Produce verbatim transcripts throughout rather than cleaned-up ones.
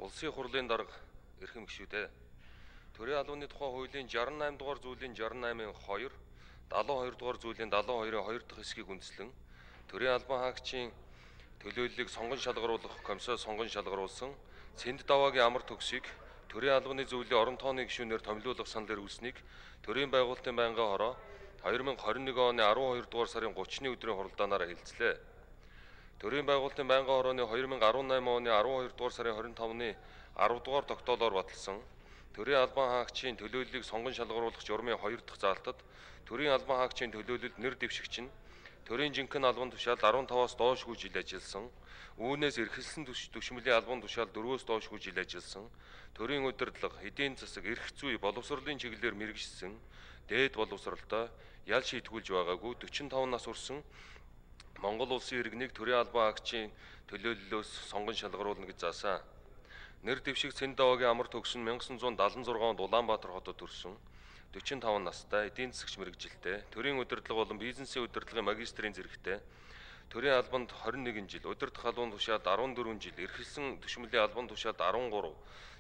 Улсын хурлын дарга эрхэм гишүүдээ. Төрийн албаны тухай хуулийн шестьдесят восемь дугаар зүйлийн шестьдесят восемь хоёр, семьдесят хоёр дугаар зүйлийн семьдесят хоёр-ын хоёр дахь хэсгийг үндэслэн төрийн албан хаагчийн төлөөллийг сонгон шалгаруулах комиссио сонгон шалгаруулсан Цэнд даваагийн амар төгсийг төрийн албаны зөвлөлийн орон тооны гишүүнээр томилуулах санал эрүүлсэнийг төрийн байгуулалтын байнгын хороо deux mille twenty-one оны twelve дугаар сарын thirty-ны өдрийн хуралдаанаараа хэлцлээ. Төрийн байгуулалтын байнгын хорооны two thousand eighteen оны twelve дугаар сарын twenty-five-ны ten дугаар тогтоолоор баталсан төрийн албан хаагчийн төлөөллийг сонгон шалгаруулах журмын хоёр дахь заалтад төрийн албан хаагчийн төлөөлөлд нэр дэвшигч нь төрийн жинхэнэ албан тушаал fifteen-аас доошгүй жил ажилласан, үүнээс эрхэлсэн түшмэлийн албан тушаал four-өөс доошгүй жил ажилласан, төрийн удирдлага, эдийн засаг, эрх зүй, боловсролын чиглэлээр мэргэжсэн, дээд боловсролтой ял шийтгүүлж байгаагүй forty-five нас хүрсэн Монгол улсын иргэнийг төрийн албан хаагчийн төлөөллөөс сонгон шалгаруулна гэж заасан. Нэр дэвшиг Цэнд даваагийн амар төгс нь nineteen seventy-six онд Улаанбаатар хотод төрсөн forty-five настай эдийн засагч мэргэжилтэй, төрийн удирдлага болон бизнесийн удирдлагын магистрийн зэрэгтэй, төрийн албанд twenty-one жил, удирдах албан тушаалд fourteen жил, эрхэлсэн түшмэлийн албан тушаалд thirteen,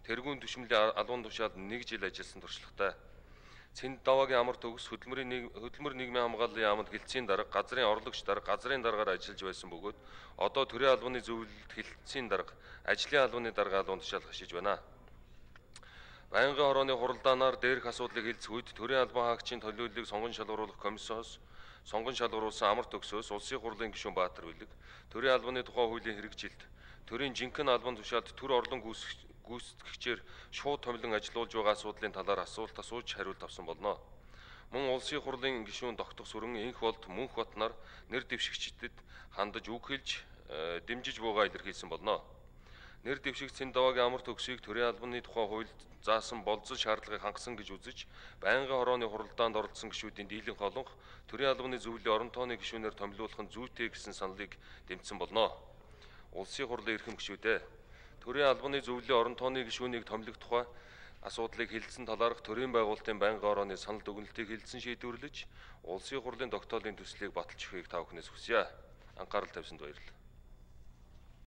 тэргүүн түшмэлийн албан тушаалд one жил ажилласан туршлагатай. Цэнд даваагийн амар төгс хөдөлмөрийн хөдөлмөр нийгмийн хамгааллын яамд хилцээний дарга, газрын орлогч дарга, газрын даргаар ажиллаж байсан бөгөөд одоо төрийн албаны зөвлөлд хилцээний дарга, ажлын албаны дарга албан тушаал хашиж байна. Байнгын хорооны хуралдаанаар дээрх асуудлыг хэлцэх үед төрийн албан хаагчийн төлөөллийг сонгон шалгаруулах комиссиос сонгон шалгаруулсан амар төгсөөс улсын хурлын гишүүн Баатар Билэг төрийн албаны тухай хуулийн хэрэгжилт төрийн жинхэнэ албан тушаалд төр орлон гүйцэтгэгчээр шууд томилон ажиллуулж байгаа асуудлын талаар асуулт асууж хариулт авсан болно. Мөн улсын хурлын гишүүн Тогтох Сүрэн, Инх болд, Мөнх бот нар нэр дэвшигчдэд хандаж үг хэлж дэмжиж буугаа илэрхийлсэн болно. Нэр дэвшигч Цэнд даваагийн амар төгсийг төрийн албаны тухай хуульд заасан болцол шаардлагыг хангасан гэж үзэж байнгын хорооны хуралдаанд оролцсон гишүүдийн дийлэнх олонх төрийн албаны зөвлөлийн орон тооны гишүүнээр томилуулах нь зүйтэй гэсэн саналыг дэмжсэн болно. Улсын хурлын эрхэм гишүүдээ. Төрийн албаны зөвлөлийн орон тооны гишүүнийг томилох тухай асуудлыг хэлсэн талаарх төрийн байгуулалтын байнгын хорооны санал дүгнэлтийг хэлсэн шийдвэрлэж улсын хурлын тогтоолын төслийг баталж өгөхийг та бүхнээс хүсье. Анхаарал тавьсанд баярлалаа.